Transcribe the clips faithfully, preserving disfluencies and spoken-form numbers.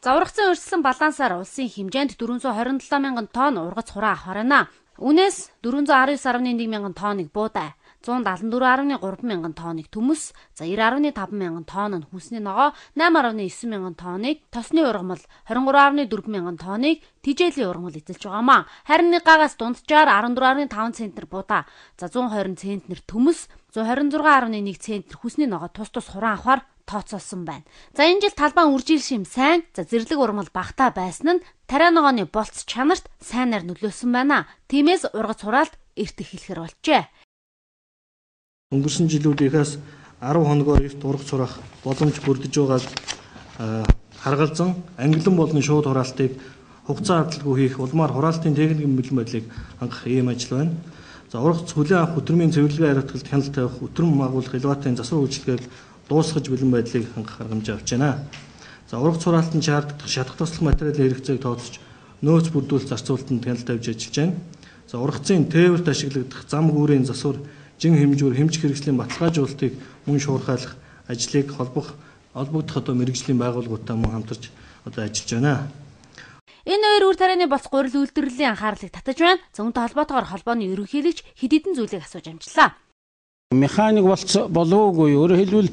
Заврагцсан өрсөлдсөн балансаар улсын хэмжээнд дөрвөн зуун хорин долоо мянган тонн ургац хураа авах байна. Үүнээс дөрвөн зуун арван девять дэх нэг мянган тонныг буудай, зуун далан дөрвөн дэх гурван мянган тонныг төмөс, за девять дэх таван мянган тонн нь хүнсний ногоо, восемь дэх девять мянган тонныг тосны ургамал, двадцать три дэх дөрвөн мянган тонныг тижээлийн ургамал эзэлж байгаамаа. Харин нэг гагаас дунджаар дөрвөн дэх таван центнер будаа, за зуун хорин центнер төмөс, зуун хорин зургаан дэх нэг центнер хүнсний ногоо тус тус хуран авахар тооцоолсон байна. За энэ жил талбайн үржил шим сайн, за зэрлэг ургамал багтаа байсан нь тариа ногооны болц чанарт сайнаар нөлөөлсөн байна. Тиймээс ургац хураалт эрт эхлэхэр болжээ. Өнгөрсөн жилүүдээс арав хоногоор эрт ургац хураах боломж бүрдэж байгааг харгалзан ангилан болон шууд хураалтыг хугацаа хадгалгүй хийх улмаар хураалтын техникийн бэлэн байдлыг хангах ийм ажил байна. За ургац хүлээн авах өдрмийн цэвэрлэгээ хариуцлагад хяналт тавих, өдрөм агуулгах элеваторын засвар үйлчилгээг дуусгаж бэлэн байдлыг хангах аргамж авч байна. За ургац хураалтанд шаарддаг шатах туслах материалын хэрэгцээг тооцож нөөц бүрдүүлэлт зарцуулалтанд хяналт тавьж ажиллаж байна. За ургацын тээвэрт ашиглагдах зам гүүрийн засвар, жин хэмжүүр, хэмжих хэрэгслийн баталгаажуулалтыг мөн шуурхайлах ажлыг холбох холбогдох одоо мэргэжлийн байгууллагуудтай мөн хамтарч одоо ажиллаж байна. Энэ хоёр үр тарианы болц гурил үйлдвэрлэлийн анхаарлыг татаж байна. За үүнтэй холбоотойгоор холбооны ерөнхийлөгч хэд хэдэн зүйлийг асууж амжлаа. Механик болц болоогүй, өөрөөр хэлбэл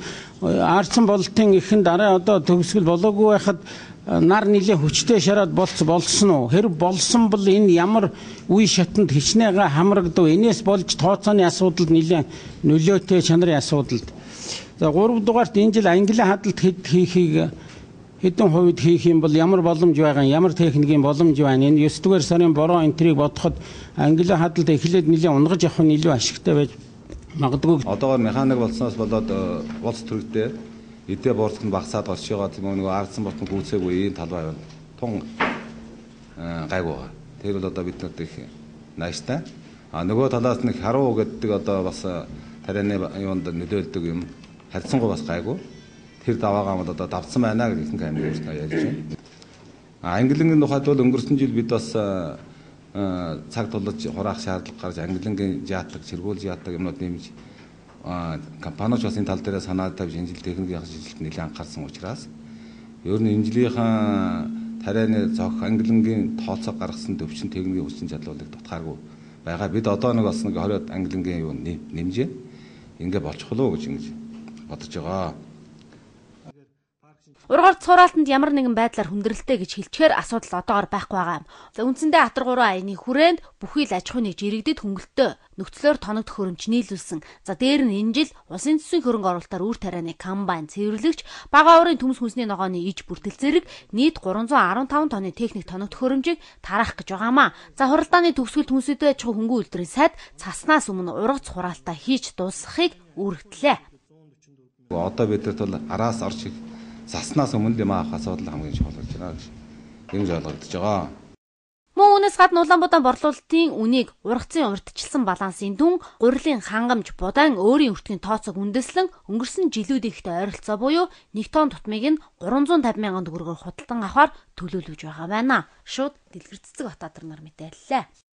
аарцсан болтын ихэнд арай одоо төгсгөл болоогүй байхад нар нилийн хүчтэй шараад болц болсон уу? Хэрэг болсон бол энэ ямар үе шатанд хичнээн хамрагдав? Энээс болж тооцооны асуудалд нилийн нөлөөтэй чанарын асуудалд. За гурав дугаарт энэ жил англи хадалт хэд хийхийг хэдэн хувьд хийх юм бол ямар боломж байгаа, ямар техникийн боломж байна? Энэ девять дугаар сарын бороо энтрийг бодоход англи хадалт эхлээд нилийн унгаж явах нь илүү ашигтай байж магадгүй. Одоогоор механик болсноос болоод болц төрөлтэй эдээ борцох нь багасаад орж байгаа тийм нөгөө ардсан ботон гүйцээгүй ийм талбай байна. Тун гайгүй байгаа. Тэр бол одоо бид нарт их нааштай. А нөгөө талаас нь харуу гэдэг одоо бас тарианы юунд нөлөөлдөг юм. Харьцангуй бас гайгүй. Тэр даваагаа бол одоо давцсан байна гэж ихэнх амир өөрснөө ярьж байна. А ангилангийн тухайд бол өнгөрсөн жил бид бас цаг тулж хураах шаардлага гарч ангилангийн жаатдаг, сэргүүл жаатдаг юмнууд нэмж компаниуч бас энэ тал дээр санаа тавьж энэ жил техникийн ажилтнууд нэлээд анхаарсан учраас ер нь энэ жилийнхэн тарианы зох ангилангийн тооцоо гаргасан төвчин техникийн хүчин чадлуудыг дутгааргүй байгаа. Бид одоо нэг бас нэг двадцать ангилангийн юу нэмжээ. Ингээ болчихлоо гэж ингэж бодож байгаа. Ургац хураалтанд ямар нэгэн байдлаар хүндрэлтэй гэж хэлчихээр асуудал одоогоор байхгүй байгаа юм. За үндсэндээ Атар гурван аяны хүрээнд бүхий л аж ахуйн нэг жирэгдэд хөнгөлтөө нөхцлөөр тоногдох хөрөмж нийлүүлсэн. За дээр нь энэ жил улсын төсвийн хөрөнгө оруулалтаар үр тарианы комбайн цэвэрлэгч, бага уурын төмс хүнсний ногооны иж бүртэл зэрэг нийт гурван зуун арван таван тонны техник тоногдох хөрөмжийг тараах гэж байгаамаа. За хуралдааны төгсгөл хүнсэдэ аж ахуй хөнгөн үйлдвэрийн сайд цаснаас өмнө ургац хураалтаа хийж дуусгахыг үүрэгдлээ. Одоо бидэрт бол араас орж заснаас өмнө юм авах асуудал хамгийн чухал гэж байна гэж юм ойлгогдож байгаа. Мөн үүнээс гадна Улаанбаатар борлуулалтын үнийг ургацын урьдчилсан балансын дүн, гурилын хангамж будаан өөрийн өртгийн тооцоог үндэслэн өнгөрсөн жилүүдийнхтэй ойролцоо буюу нэг тонн тутмыг нь гурван зуун тавин мянган төгрөгөөр худалдан авахар төлөвлөж байгаа байна. Шууд Дэлгэр Цэцэг Батбаатар нар мэдээллээ.